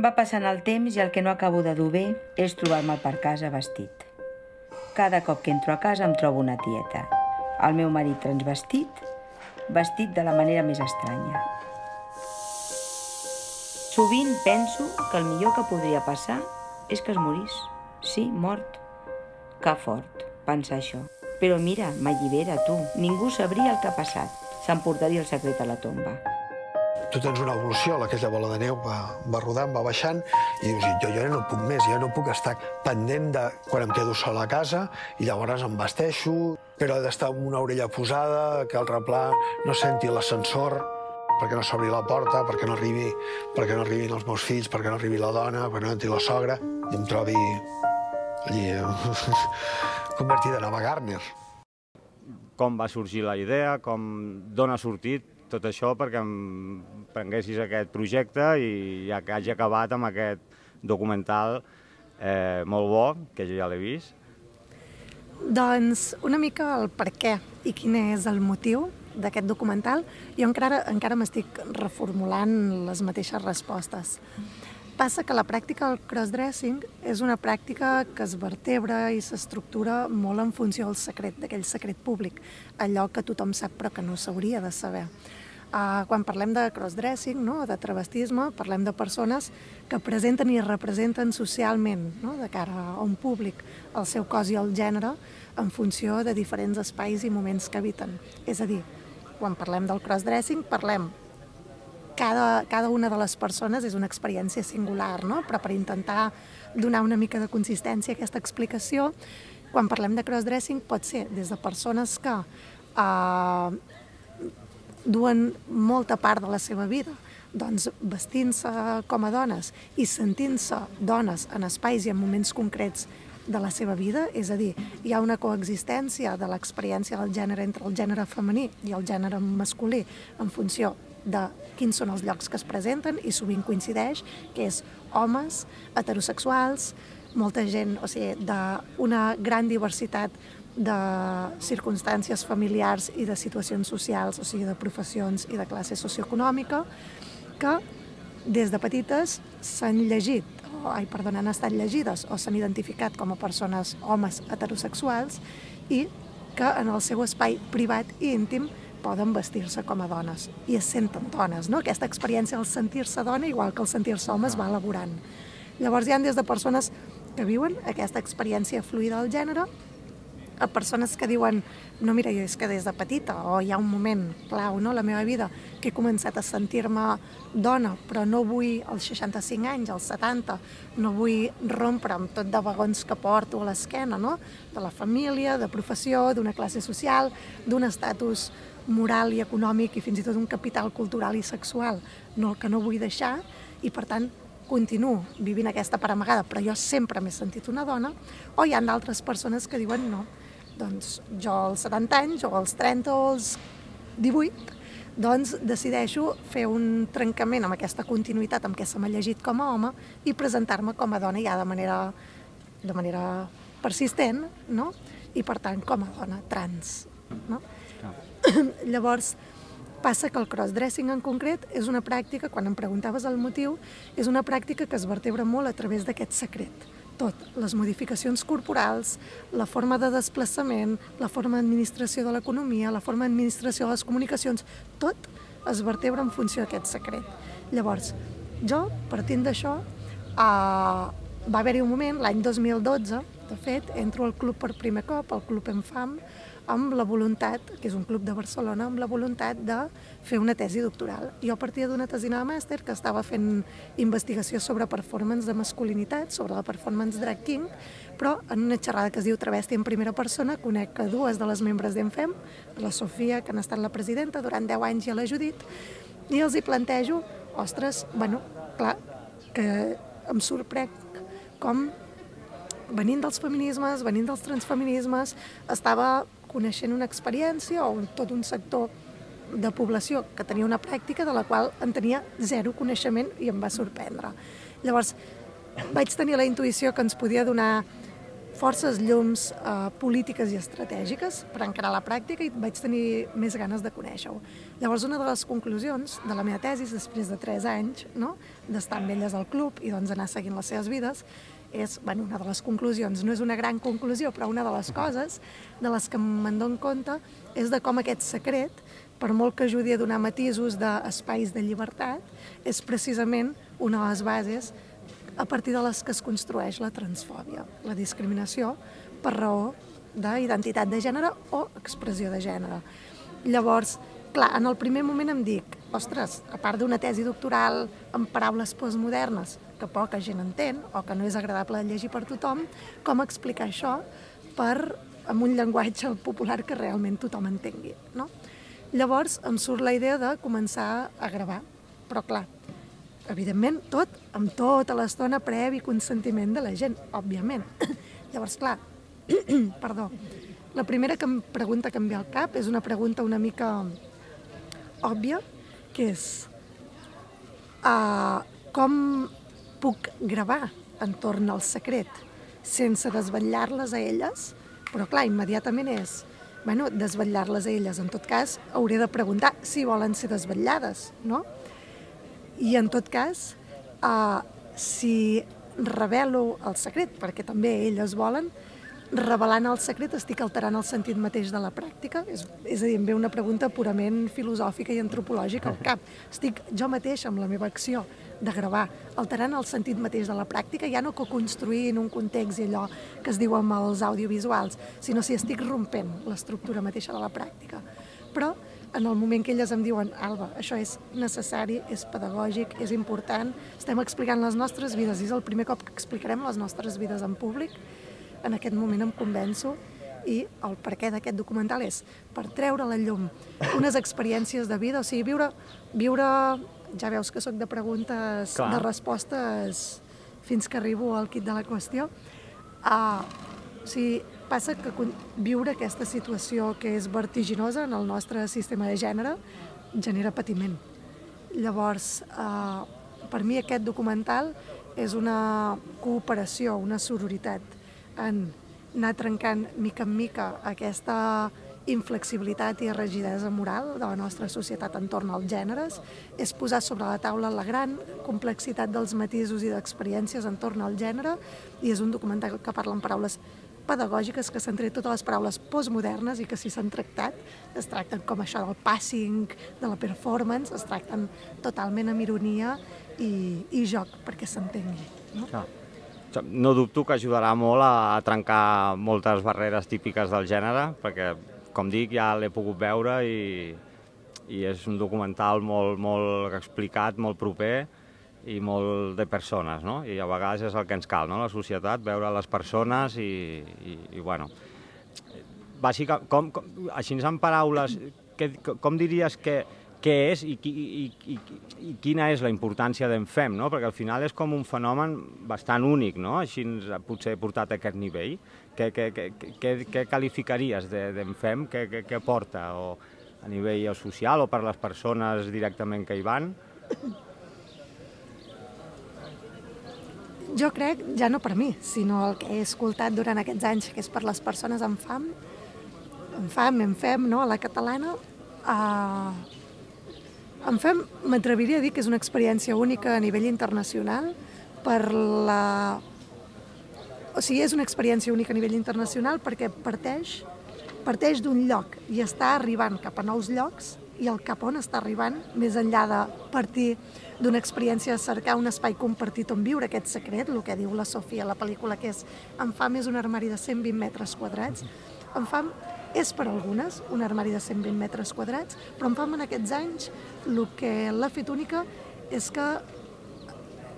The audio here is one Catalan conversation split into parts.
Va passant el temps i el que no acabo de dur bé és trobar-me per casa vestit. Cada cop que entro a casa em trobo una tieta. El meu marit transvestit, vestit de la manera més estranya. Sovint penso que el millor que podria passar és que es morís. Sí, mort. Que fort, pensar això. Però mira, m'allibera, tu. Ningú sabria el que ha passat. S'emportaria el secret a la tomba. Tu tens una evolució, aquella bola de neu va rodant, va baixant, i dius, jo ja no puc més, ja no puc estar pendent de quan em quedo sol a casa, i llavors em vesteixo, però he d'estar amb una orella posada, que el replà no senti l'ascensor, perquè no s'obri la porta, perquè no arribin els meus fills, perquè no arribi la dona, perquè no entri la sogra, i em trobi allí convertida en Ava Gardner. Com va sorgir la idea, d'on ha sortit tot això perquè em prenguessis aquest projecte i ja que hagi acabat amb aquest documental molt bo, que jo ja l'he vist. Doncs una mica el per què i quin és el motiu d'aquest documental. Jo encara m'estic reformulant les mateixes respostes. Passa que la pràctica del crossdressing és una pràctica que es vertebra i s'estructura molt en funció del secret, d'aquell secret públic, allò que tothom sap però que no s'hauria de saber. Quan parlem de crossdressing, de travestisme, parlem de persones que presenten i representen socialment, de cara a un públic, el seu cos i el gènere en funció de diferents espais i moments que habiten. És a dir, quan parlem del crossdressing, parlem cada una de les persones és una experiència singular, però per intentar donar una mica de consistència a aquesta explicació, quan parlem de crossdressing pot ser des de persones que duen molta part de la seva vida doncs vestint-se com a dones i sentint-se dones en espais i en moments concrets de la seva vida, és a dir, hi ha una coexistència de l'experiència del gènere entre el gènere femení i el gènere masculí en funció de quins són els llocs que es presenten i sovint coincideix que és homes, heterosexuals, molta gent, o sigui, d'una gran diversitat de circumstàncies familiars i de situacions socials, o sigui, de professions i de classe socioeconòmica, que des de petites han estat llegides o s'han identificat com a persones, homes heterosexuals, i que en el seu espai privat i íntim poden vestir-se com a dones i es senten dones. Aquesta experiència del sentir-se dona, igual que el sentir-se home, es va elaborant. Llavors hi ha des de persones que viuen aquesta experiència fluida del gènere a persones que diuen, no, mira, és que des de petita, o hi ha un moment clau, a la meva vida, que he començat a sentir-me dona, però no vull als 65 anys, als 70, no vull rompre amb tot de vagons que porto a l'esquena, de la família, de professió, d'una classe social, d'un estatus moral i econòmic i fins i tot un capital cultural i sexual, que no vull deixar, i per tant continuo vivint aquesta part amagada, però jo sempre m'he sentit una dona, o hi ha d'altres persones que diuen no, doncs jo als 70 anys, o als 30 o als 18, doncs decideixo fer un trencament amb aquesta continuïtat amb què se m'ha llegit com a home i presentar-me com a dona ja de manera persistent, i per tant com a dona trans. Llavors, passa que el crossdressing en concret és una pràctica, quan em preguntaves el motiu, és una pràctica que es vertebra molt a través d'aquest secret. Tot, les modificacions corporals, la forma de desplaçament, la forma d'administració de l'economia, la forma d'administració de les comunicacions, tot es vertebra en funció d'aquest secret. Llavors, jo, partint d'això, va haver-hi un moment, l'any 2012, de fet, entro al club per primer cop, al Club Enfam, amb la voluntat, que és un club de Barcelona, amb la voluntat de fer una tesi doctoral. Jo partia d'una tesina de màster que estava fent investigació sobre performance de masculinitat, sobre la performance drag king, però en una xerrada que es diu Travesti en primera persona conec a dues de les membres d'Enfem, la Sofia, que n'ha estat la presidenta durant 10 anys, i a la Judit, i els hi plantejo, ostres, clar, que em sorprèn com venint dels feminismes, venint dels transfeminismes, estava coneixent una experiència o tot un sector de població que tenia una pràctica de la qual en tenia zero coneixement i em va sorprendre. Llavors, vaig tenir la intuïció que ens podia donar forces llums polítiques i estratègiques per encarar la pràctica i vaig tenir més ganes de conèixer-ho. Llavors, una de les conclusions de la meva tesi, després de 3 anys d'estar amb elles al club i anar seguint les seves vides, és, una de les conclusions, no és una gran conclusió, però una de les coses de les que me'n dono compte és de com aquest secret, per molt que ajudi a donar matisos d'espais de llibertat, és precisament una de les bases a partir de les que es construeix la transfòbia, la discriminació per raó d'identitat de gènere o expressió de gènere. Llavors, clar, en el primer moment em dic, ostres, a part d'una tesi doctoral amb paraules postmodernes que poca gent entén o que no és agradable de llegir per tothom, com explicar això amb un llenguatge popular que realment tothom entengui, no? Llavors em surt la idea de començar a gravar, però clar, evidentment, amb tota l'estona previ consentiment de la gent, òbviament. Llavors, clar, perdó, la primera pregunta que em ve al cap és una pregunta una mica òbvia, que és com puc gravar entorn al secret sense desvetllar-les a elles? Però clar, immediatament és, desvetllar-les a elles. En tot cas, hauré de preguntar si volen ser desvetllades, no? I en tot cas, si revelo el secret, perquè també elles volen, revelant el secret estic alterant el sentit mateix de la pràctica? És a dir, em ve una pregunta purament filosòfica i antropològica al cap. Estic jo mateix, amb la meva acció de gravar, alterant el sentit mateix de la pràctica, ja no co-construint un context i allò que es diu amb els audiovisuals, sinó si estic rompent l'estructura mateixa de la pràctica. Però en el moment que elles em diuen, Alba, això és necessari, és pedagògic, és important, estem explicant les nostres vides, i és el primer cop que explicarem les nostres vides en públic, en aquest moment em convenço, i el perquè d'aquest documental és per treure a la llum unes experiències de vida, o sigui, viure, ja veus que sóc de preguntes, de respostes, fins que arribo al quid de la qüestió. O sigui, passa que viure aquesta situació que és vertiginosa en el nostre sistema de gènere genera patiment. Llavors, per mi aquest documental és una cooperació, una sororitat en anar trencant mica en mica aquesta inflexibilitat i rigidesa moral de la nostra societat entorn als gèneres, és posar sobre la taula la gran complexitat dels matisos i d'experiències entorn al gènere, i és un documental que parla en paraules pedagògiques, que s'han tret totes les paraules postmodernes i que si s'han tractat, es tracten com això del passing, de la performance, es tracten totalment amb ironia i joc, perquè s'entengui. No dubto que ajudarà molt a trencar moltes barreres típiques del gènere, perquè, com dic, ja l'he pogut veure i és un documental molt explicat, molt proper i molt de persones, no? I a vegades és el que ens cal, no? La societat, veure les persones i bueno... Bàsicament, així en paraules, com diries que és i quina és la importància d'Enfem, no? Perquè al final és com un fenomen bastant únic, no? Així potser portat a aquest nivell. Què qualificaries d'Enfem? Què porta? O a nivell social o per les persones directament que hi van? Jo crec, ja no per mi, sinó el que he escoltat durant aquests anys, que és per les persones amb fam, Enfem, no? A la catalana, Enfem, m'atreviria a dir que és una experiència única a nivell internacional O sigui, és una experiència única a nivell internacional perquè parteix d'un lloc i està arribant cap a nous llocs, i el cap on està arribant, més enllà de partir d'una experiència de cercar un espai compartit on viure aquest secret, el que diu la Sofia a la pel·lícula, que és Enfam és un armari de 120 metres quadrats. Enfam és per algunes un armari de 120 metres quadrats, però Enfam en aquests anys el que l'ha fet única és que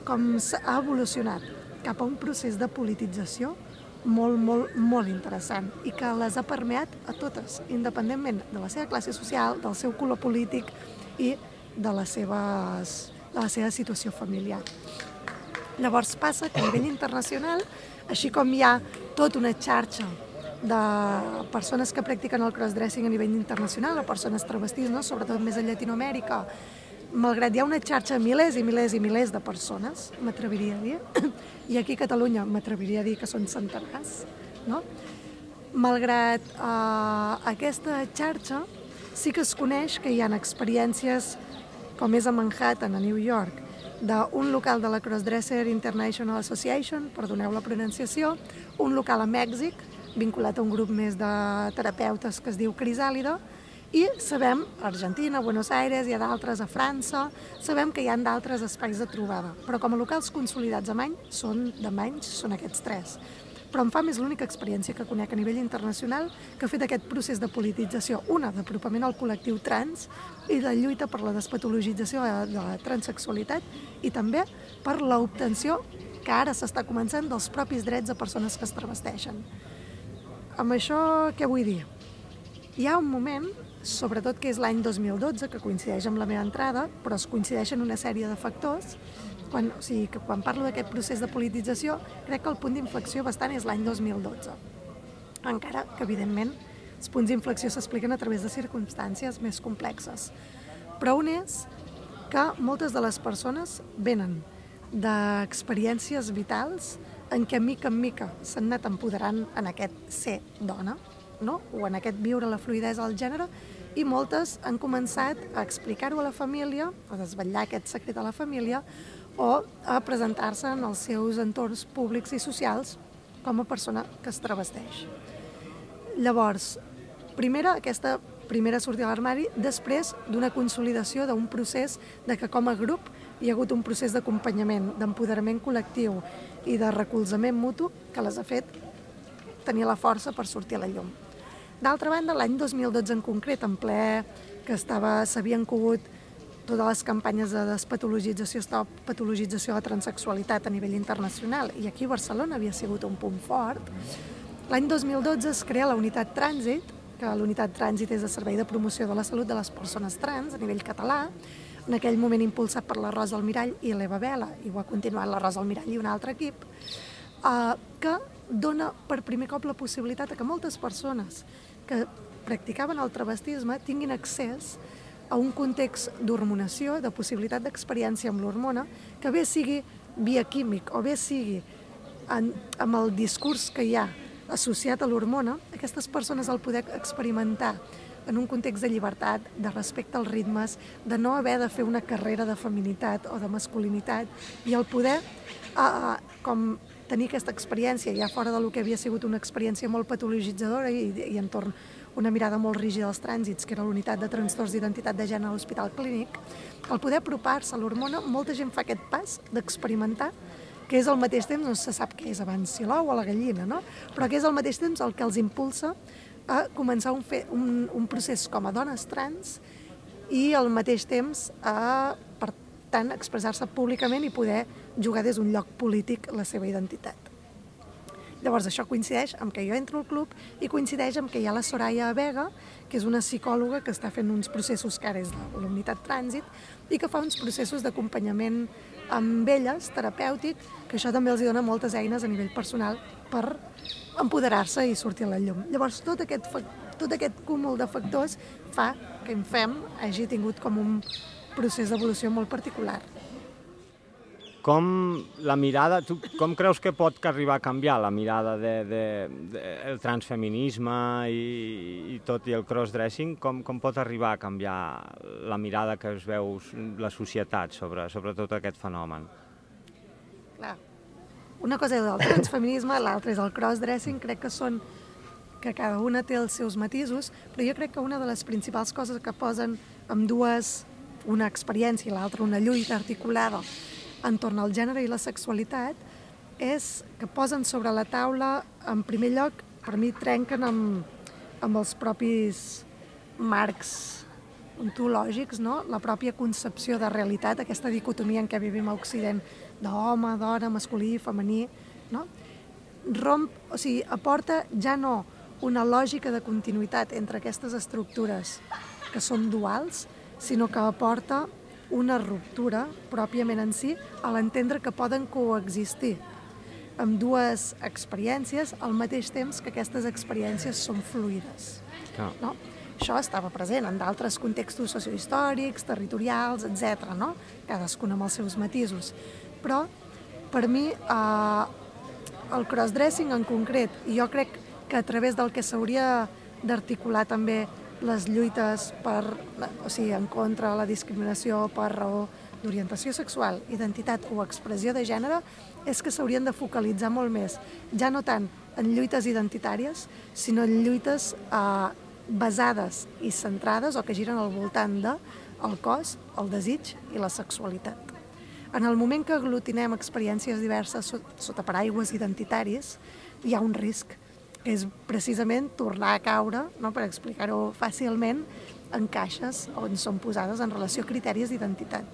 com ha evolucionat cap a un procés de politització molt interessant i que les ha permeat a totes, independentment de la seva classe social, del seu color polític i de la seva situació familiar. Llavors passa que a nivell internacional, així com hi ha tota una xarxa de persones que practiquen el crossdressing a nivell internacional, o persones travestís, no? Sobretot més a Llatinoamèrica, malgrat hi ha una xarxa de milers i milers de persones, m'atreviria a dir, i aquí a Catalunya m'atreviria a dir que són centenars no? Malgrat aquesta xarxa, sí que es coneix que hi ha experiències, com és a Manhattan, a New York, d'un local de la Crossdresser International Association, perdoneu la pronunciació, un local a Mèxic, vinculat a un grup més de terapeutes que es diu Crisàlida, i sabem, a Argentina, a Buenos Aires, hi ha d'altres a França, sabem que hi ha d'altres espais de trobada, però com a locals consolidats a Many, són aquests 3. Però em fa més l'única experiència que conec a nivell internacional que ha fet aquest procés de politització, una d'apropament al col·lectiu trans i de lluita per la despatologització de la transsexualitat i també per l'obtenció, que ara s'està començant, dels propis drets de persones que es travesteixen. Amb això què vull dir? Hi ha un moment, sobretot que és l'any 2012, que coincideix amb la meva entrada, però es coincideixen una sèrie de factors. Quan parlo d'aquest procés de politització, crec que el punt d'inflexió bastant és l'any 2012. Encara que, evidentment, els punts d'inflexió s'expliquen a través de circumstàncies més complexes. Però un és que moltes de les persones venen d'experiències vitals en què, mica en mica, s'han anat empoderant en aquest ser dona, no? O en aquest viure la fluïdesa del gènere, i moltes han començat a explicar-ho a la família, a desvetllar aquest secret a la família, o a presentar-se en els seus entorns públics i socials com a persona que es travesteix. Llavors, aquesta primera sortida a l'armari, després d'una consolidació d'un procés de que com a grup hi ha hagut un procés d'acompanyament, d'empoderament col·lectiu i de recolzament mutu que les ha fet tenir la força per sortir a la llum. D'altra banda, l'any 2012 en concret, en ple que s'havien cogut totes les campanyes de despatologització, patologització de la transsexualitat a nivell internacional, i aquí a Barcelona havia sigut un punt fort. L'any 2012 es crea la Unitat Trànsit, que la Unitat Trànsit és de servei de promoció de la salut de les persones trans a nivell català, en aquell moment impulsat per la Rosa Almirall i l'Eva Vela, i ho ha continuat la Rosa Almirall i un altre equip, que dona per primer cop la possibilitat que moltes persones que practicaven el travestisme tinguin accés a un context d'hormonació, de possibilitat d'experiència amb l'hormona, que bé sigui bioquímic o bé sigui amb el discurs que hi ha associat a l'hormona, aquestes persones al poder experimentar en un context de llibertat, de respecte als ritmes, de no haver de fer una carrera de feminitat o de masculinitat, i el poder com tenir aquesta experiència ja fora del que havia sigut una experiència molt patologitzadora i entorn una mirada molt rígida als trànsits, que era l'unitat de trastorns d'identitat de gènere a l'Hospital Clínic, al poder apropar-se a l'hormona, molta gent fa aquest pas d'experimentar, que és al mateix temps, no se sap què és abans, si l'ou o la gallina, no? Però que és al mateix temps el que els impulsa a començar un procés com a dones trans i al mateix temps per tant, expressar-se públicament i poder jugar des d'un lloc polític la seva identitat. Llavors, això coincideix amb que jo entro al club i coincideix amb que hi ha la Soraya Vega, que és una psicòloga que està fent uns processos que ara és de la Unitat Trànsit i que fa uns processos d'acompanyament amb elles, terapèutic, que això també els dona moltes eines a nivell personal per empoderar-se i sortir a la llum. Llavors, tot aquest cúmul de factors fa que INFEM hagi tingut com un procés d'evolució molt particular. Com creus que pot arribar a canviar la mirada del transfeminisme i tot i el crossdressing? Com pot arribar a canviar la mirada que es veu la societat sobre tot aquest fenomen? Clar, una cosa és el transfeminisme, l'altra és el crossdressing, crec que cada una té els seus matisos, però jo crec que una de les principals coses que posen ambdues, una experiència i l'altra una lluita articulada entorn al gènere i la sexualitat, és que posen sobre la taula, en primer lloc, per mi trenquen amb els propis marcs ontològics, no? La pròpia concepció de realitat, aquesta dicotomia en què vivim a Occident d'home, dona, masculí, femení, no? Aporta ja no una lògica de continuïtat entre aquestes estructures que són duals, sinó que aporta una ruptura pròpiament en si a l'entendre que poden coexistir amb dues experiències al mateix temps que aquestes experiències són fluides. No? Això estava present en d'altres contextos sociohistòrics, territorials, etc., no? Cadascun amb els seus matisos. Però, per mi, el crossdressing en concret, i jo crec que a través del que s'hauria d'articular també les lluites en contra de la discriminació per raó d'orientació sexual, identitat o expressió de gènere, és que s'haurien de focalitzar molt més, ja no tant en lluites identitàries, sinó en lluites basades i centrades o que giren al voltant del cos, el desig i la sexualitat. En el moment que aglutinem experiències diverses sota paraigües identitaris, hi ha un risc, que és precisament tornar a caure, per explicar-ho fàcilment, en caixes on són posades en relació a criteris d'identitat.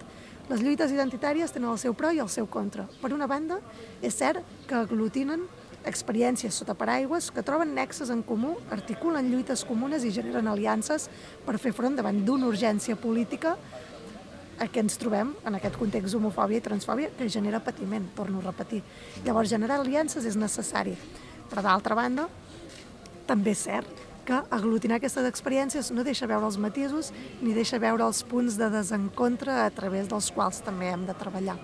Les lluites identitàries tenen el seu pro i el seu contra. Per una banda, és cert que aglutinen experiències sota paraigües que troben nexes en comú, articulen lluites comunes i generen aliances per fer front davant d'una urgència política a què ens trobem en aquest context d'homofòbia i transfòbia que genera patiment, torno a repetir. Llavors, generar aliances és necessari. Però d'altra banda, també és cert que aglutinar aquestes experiències no deixa veure els matisos ni deixa veure els punts de desencontre a través dels quals també hem de treballar.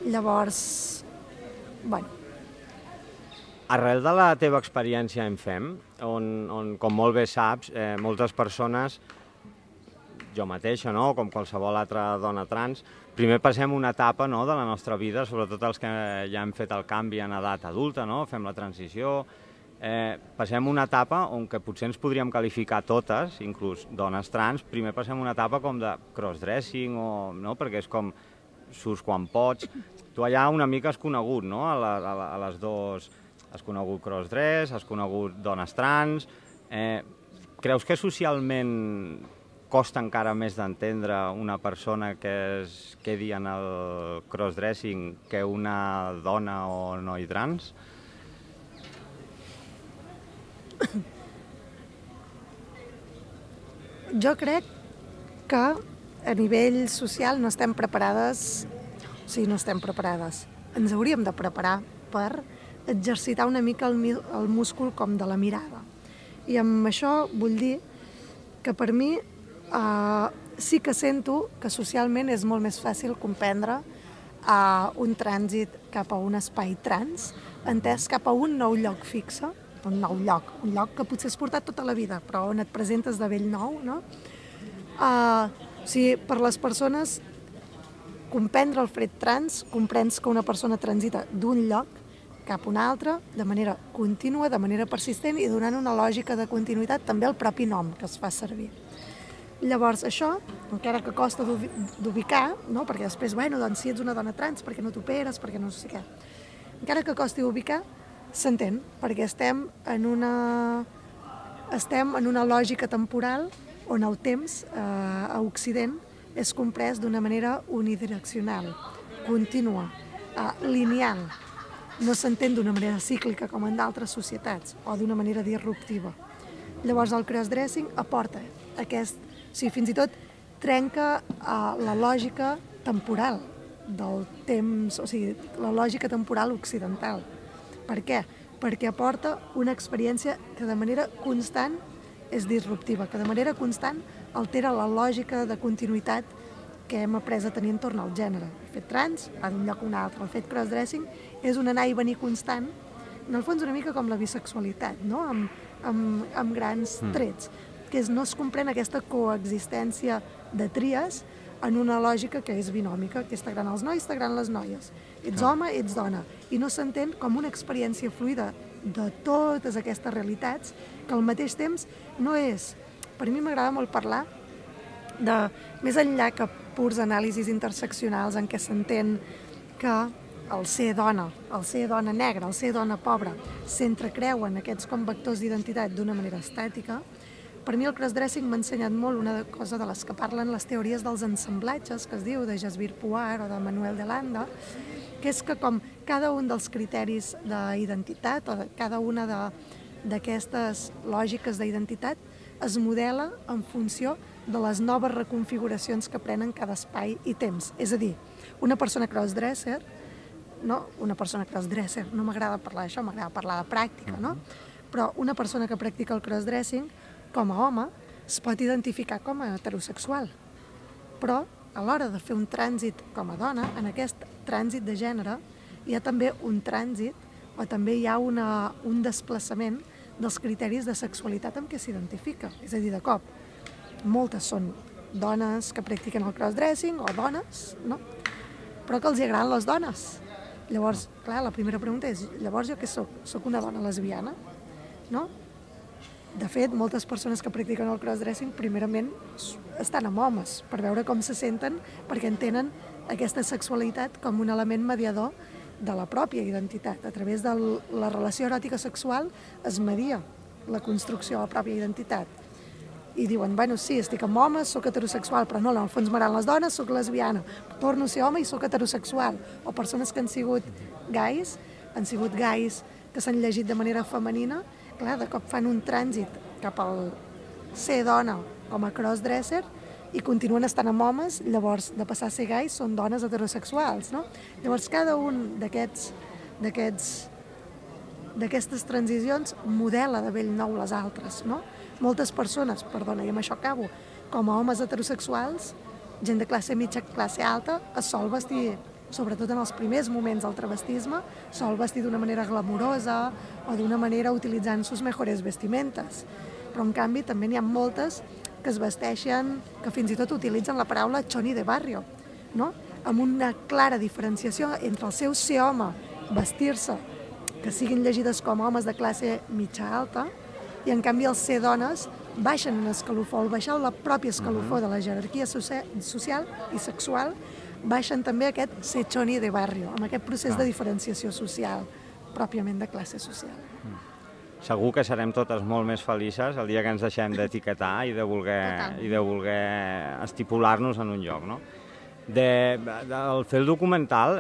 Llavors, Arrel de la teva experiència en FEM, on com molt bé saps, moltes persones, jo mateixa, com qualsevol altra dona trans, primer passem una etapa de la nostra vida, sobretot els que ja hem fet el canvi en edat adulta, fem la transició, passem una etapa on que potser ens podríem qualificar totes, inclús dones trans, primer passem una etapa com de crossdressing, perquè és com surts quan pots. Tu allà una mica has conegut, a les dues, has conegut crossdress, has conegut dones trans. Creus que socialment costa encara més d'entendre una persona que es quedi en el crossdressing que una dona o noi trans? Jo crec que a nivell social no estem preparades, no estem preparades. Ens hauríem de preparar per exercitar una mica el múscul com de la mirada. I amb això vull dir que per mi sí que sento que socialment és molt més fàcil comprendre un trànsit cap a un espai trans, entès cap a un nou lloc fixe, un nou lloc, un lloc que potser has portat tota la vida, però on et presentes de bell nou, no? Per les persones, comprendre el fet trans, comprens que una persona transita d'un lloc cap a un altre, de manera contínua, de manera persistent i donant una lògica de continuïtat també al propi nom que es fa servir. Llavors, això, encara que costa d'ubicar, perquè després, si ets una dona trans, perquè no t'operes, perquè no sé què, encara que costi d'ubicar, s'entén, perquè estem en una lògica temporal on el temps a Occident és comprès d'una manera unidireccional, contínua, lineal. No s'entén d'una manera cíclica com en d'altres societats o d'una manera disruptiva. Llavors el crossdressing aporta fins i tot trenca la lògica temporal del temps, la lògica temporal occidental. Per què? Perquè aporta una experiència que de manera constant és disruptiva, que de manera constant altera la lògica de continuïtat que hem après a tenir entorn al gènere. El fet trans va d'un lloc a un altre, el fet crossdressing és un anar i venir constant, en el fons una mica com la bisexualitat, amb grans trets, que no es comprèn aquesta coexistència de tries en una lògica que és binòmica, que és t'agraden els nois, t'agraden les noies. Ets home, ets dona. I no s'entén com una experiència fluida de totes aquestes realitats, que al mateix temps no és... Per mi m'agrada molt parlar de, més enllà que purs anàlisis interseccionals en què s'entén que el ser dona negra, el ser dona pobra, s'entrecreuen aquests com vectors d'identitat d'una manera estàtica. Per mi el crossdressing m'ha ensenyat molt una cosa de les que parlen les teories dels ensamblatges, que es diu de Jasbir Puar o de Manuel de Landa, que és que com cada un dels criteris d'identitat o cada una d'aquestes lògiques d'identitat es modela en funció de les noves reconfiguracions que prenen cada espai i temps. És a dir, una persona crossdresser, no m'agrada parlar d'això, m'agrada parlar de pràctica, no? Però una persona que practica el crossdressing, com a home, es pot identificar com a heterosexual. Però a l'hora de fer un trànsit com a dona, en aquest trànsit de gènere, hi ha també un trànsit o també hi ha un desplaçament dels criteris de sexualitat amb què s'identifica. És a dir, de cop, moltes són dones que practiquen el crossdressing o dones, no? Però que els agraden les dones. Llavors, clar, la primera pregunta és, llavors jo què soc? Soc una dona lesbiana? No? De fet, moltes persones que practiquen el crossdressing primerament estan amb homes per veure com se senten, perquè entenen aquesta sexualitat com un element mediador de la pròpia identitat. A través de la relació eròtica sexual es media la construcció de la pròpia identitat. I diuen, bueno, sí, estic amb homes, soc heterosexual, però no, en el fons m'agraden les dones, soc lesbiana, torno a ser home i soc heterosexual. O persones que han sigut gais que s'han llegit de manera femenina, clar, de cop fan un trànsit cap al ser dona com a crossdresser i continuen estant amb homes, llavors de passar a ser gais són dones heterosexuals, no? Llavors cada un d'aquestes transicions modela de bell nou les altres, no? Moltes persones, perdona, i amb això acabo, com a homes heterosexuals, gent de classe mitja, classe alta, es sol vestir, sobretot en els primers moments del travestisme, sol vestir d'una manera glamurosa o d'una manera utilitzant sus mejores vestimentes. Però, en canvi, també n'hi ha moltes que es vesteixen, que fins i tot utilitzen la paraula choni de barrio, no? Amb una clara diferenciació entre el seu ser home, vestir-se, que siguin llegides com homes de classe mitja alta, i en canvi els ser dones baixen un escalofó, al baixar la pròpia escalofó de la jerarquia social i sexual, baixen també aquest ser choni de barrio, amb aquest procés de diferenciació social, pròpiament de classe social. Segur que serem totes molt més felices el dia que ens deixem d'etiquetar i de voler estipular-nos en un lloc, no? Al fer el documental,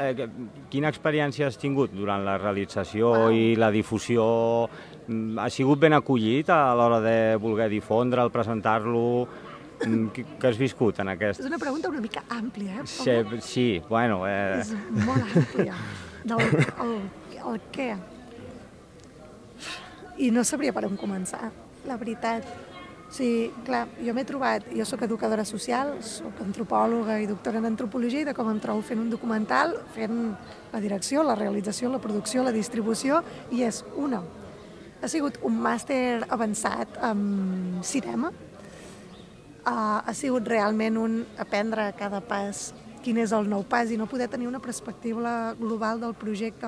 quina experiència has tingut durant la realització i la difusió? Ha sigut ben acollit a l'hora de voler difondre'l, presentar-lo? Què has viscut en aquest? És una pregunta una mica àmplia, Sí, bueno... És molt àmplia. El què? I no sabria per on començar, la veritat. O sigui, clar, jo m'he trobat, jo soc educadora social, soc antropòloga i doctora en antropologia, i de com em trobo fent un documental, fent la direcció, la realització, la producció, la distribució, i és una. Ha sigut un màster avançat en cinema, ha sigut realment un aprendre a cada pas quin és el nou pas i no poder tenir una perspectiva global del projecte,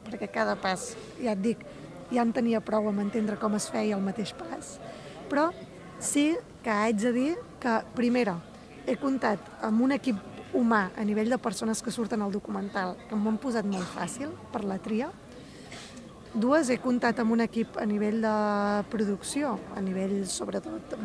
perquè cada pas, ja et dic, ja en tenia prou amb entendre com es feia el mateix pas. Però sí que haig de dir que, primera, he comptat amb un equip humà a nivell de persones que surten al documental que m'ho han posat molt fàcil per la tria. Dues, he comptat amb un equip a nivell de producció, a nivell, sobretot,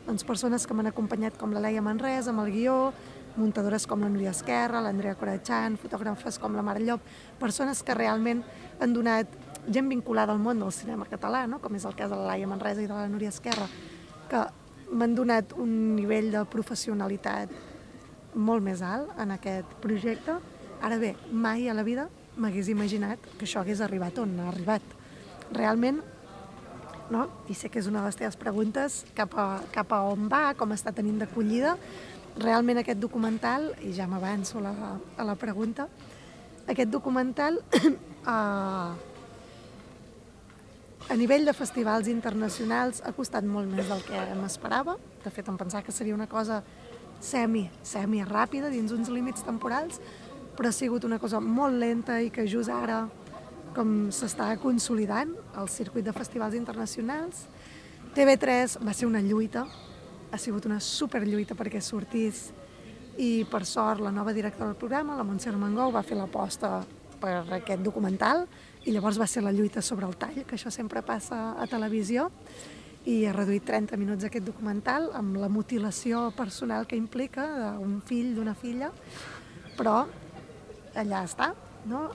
doncs persones que m'han acompanyat com la Laia Manresa amb el guió, muntadores com la Núria Esquerra, l'Andrea Corachán, fotògrafes com la Mare Llop, persones que realment han donat gent vinculada al món del cinema català, no? Com és el cas de la Laia Manresa i de la Núria Esquerra, que m'han donat un nivell de professionalitat molt més alt en aquest projecte. Ara bé, mai a la vida m'hagués imaginat que això hagués arribat on ha arribat. Realment, no? I sé que és una de les teves preguntes, cap a on va, com està tenint d'acollida. Realment aquest documental, i ja m'avanço a la pregunta, aquest documental a nivell de festivals internacionals ha costat molt més del que m'esperava. De fet, em pensava que seria una cosa semi-ràpida dins uns límits temporals, però ha sigut una cosa molt lenta i que just ara com s'està consolidant el circuit de festivals internacionals. TV3 va ser una lluita, ha sigut una superlluita perquè sortís, i per sort la nova directora del programa, la Montse Armengou, va fer l'aposta per aquest documental i llavors va ser la lluita sobre el tall, que això sempre passa a televisió, i ha reduït 30 minuts aquest documental amb la mutilació personal que implica d'un fill, d'una filla, però allà està, no?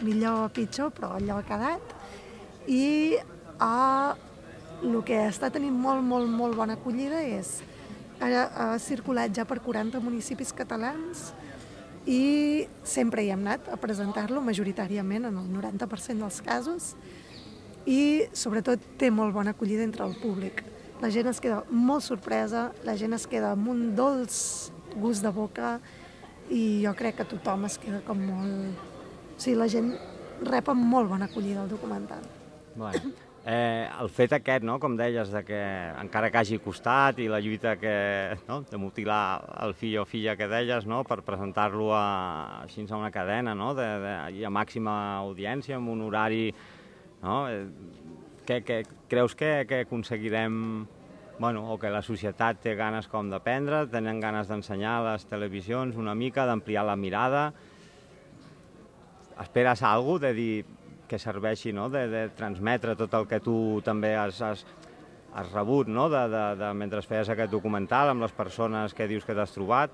Millor o pitjor, però allò ha quedat. I el que està tenint molt bona acollida és ha circulat ja per 40 municipis catalans i sempre hi hem anat a presentar-lo, majoritàriament en el 90% dels casos, i sobretot té molt bona acollida entre el públic. La gent es queda molt sorpresa, la gent es queda amb un dolç gust de boca i jo crec que tothom es queda com molt... O sigui, la gent rep amb molt bona acollida el documental. Bueno, el fet aquest, no, com deies, de que encara que hagi costat i la lluita de mutilar el fill o filla que deies, no, per presentar-lo així a una cadena, no, i a màxima audiència, amb un horari, no, creus que aconseguirem, bueno, o que la societat té ganes com d'aprendre, tenen ganes d'ensenyar a les televisions una mica, d'ampliar la mirada? Esperes alguna cosa de dir que serveixi, no?, de transmetre tot el que tu també has rebut, no?, mentre feies aquest documental amb les persones que dius que t'has trobat,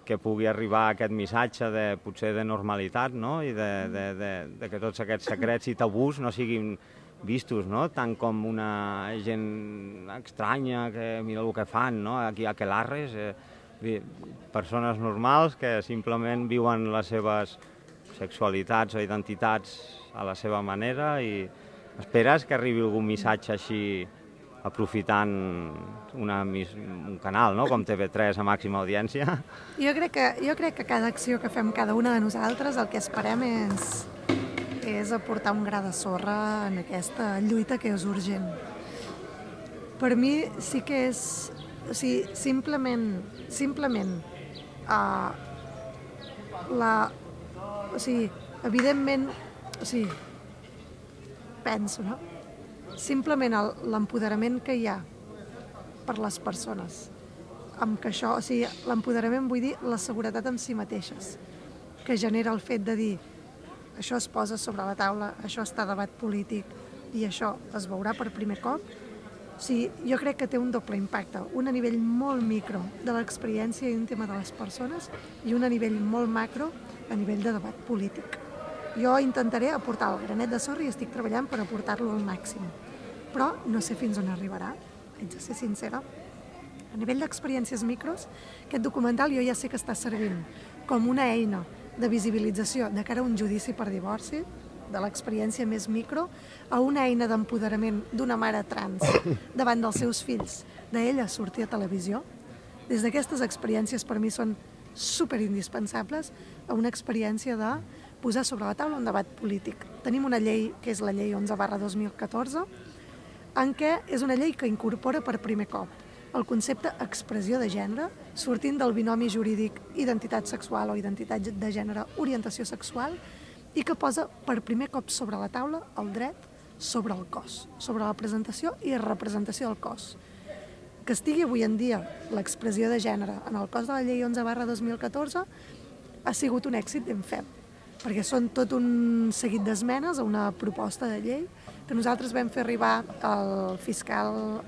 que pugui arribar aquest missatge potser de normalitat, no?, i de que tots aquests secrets i tabús no siguin vistos, no?, tant com una gent estranya que mira el que fan, no?, aquí a Aquelarres, persones normals que simplement viuen les seves sexualitats o identitats a la seva manera, i esperes que arribi algun missatge així aprofitant un canal, no?, com TV3 a màxima audiència? Jo crec que cada acció que fem cada una de nosaltres el que esperem és aportar un gra de sorra en aquesta lluita que és urgent. Per mi sí que és... O sigui, simplement evidentment, penso, no? Simplement l'empoderament que hi ha per les persones, amb que això, o sigui, l'empoderament vull dir la seguretat en si mateixes, que genera el fet de dir això es posa sobre la taula, això està a debat polític i això es veurà per primer cop. O sigui, jo crec que té un doble impacte, un a nivell molt micro de l'experiència íntima de les persones i un a nivell molt macro a nivell de debat polític. Jo intentaré aportar el granet de sorra i estic treballant per aportar-lo al màxim, però no sé fins on arribarà, haig de ser sincera. A nivell d'experiències micros, aquest documental jo ja sé que està servint com una eina de visibilització de cara a un judici per divorci, de l'experiència més micro, a una eina d'empoderament d'una mare trans davant dels seus fills, d'ella sortir a televisió. Des d'aquestes experiències per mi són superindispensables a una experiència de posar sobre la taula un debat polític. Tenim una llei, que és la llei 11/2014, en què és una llei que incorpora per primer cop el concepte expressió de gènere, sortint del binomi jurídic identitat sexual o identitat de gènere orientació sexual, i que posa per primer cop sobre la taula el dret sobre el cos, sobre la presentació i representació del cos. Que estigui avui en dia l'expressió de gènere en el cos de la llei 11/2014 ha sigut un èxit ben fet, perquè són tot un seguit d'esmenes a una proposta de llei que nosaltres vam fer arribar al fiscal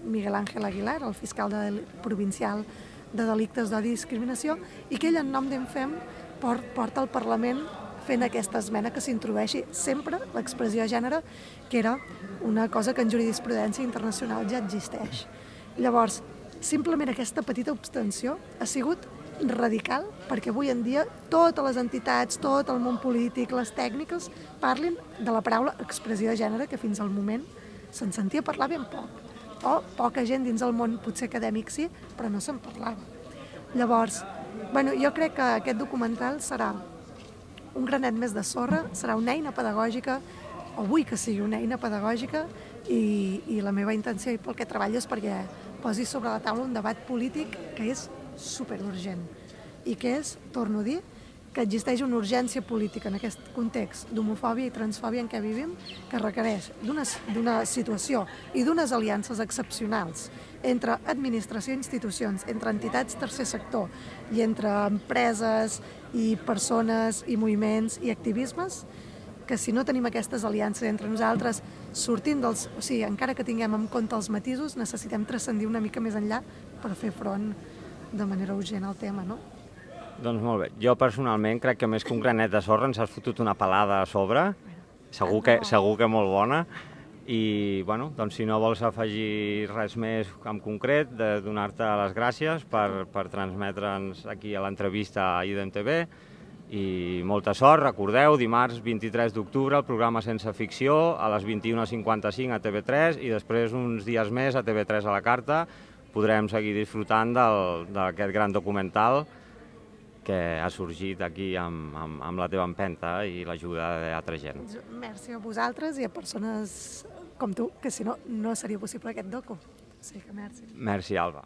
Miguel Ángel Aguilar, el fiscal provincial de delictes d'odi i discriminació, i que ell en nom d'Enfem porta al Parlament fent aquesta esmena que s'introdueixi sempre l'expressió de gènere, que era una cosa que en jurisprudència internacional ja existeix. Llavors, simplement aquesta petita abstenció ha sigut radical perquè avui en dia totes les entitats, tot el món polític, les tècniques, parlin de la paraula expressió de gènere, que fins al moment se'n sentia parlar ben poc. O poca gent dins el món, potser acadèmic sí, però no se'n parlava. Llavors, jo crec que aquest documental serà un granet més de sorra, serà una eina pedagògica, o vull que sigui una eina pedagògica, i la meva intenció i pel que treballo és perquè posi sobre la taula un debat polític que és superurgent i que és, torno a dir, que existeix una urgència política en aquest context d'homofòbia i transfòbia en què vivim, que requereix d'una situació i d'unes aliances excepcionals entre administració i institucions, entre entitats tercer sector i entre empreses i persones i moviments i activismes, que si no tenim aquestes aliances entre nosaltres, sortint dels... O sigui, encara que tinguem en compte els matisos, necessitem transcendir una mica més enllà per fer front de manera urgent al tema, no? Doncs molt bé. Jo personalment crec que més que un granet de sorra ens has fotut una pelada a sobre, segur que molt bona, i bueno, doncs si no vols afegir res més en concret, de donar-te les gràcies per transmetre'ns aquí a l'entrevista a IDEM-TV, i molta sort. Recordeu, dimarts 23 d'octubre, el programa Sense Ficció, a les 21:55 a TV3, i després uns dies més a TV3 a la carta podrem seguir disfrutant d'aquest gran documental que ha sorgit aquí amb la teva empenta i l'ajuda d'altra gent. Merci a vosaltres i a persones com tu, que si no, no seria possible aquest docu. O sigui que merci. Merci, Alba.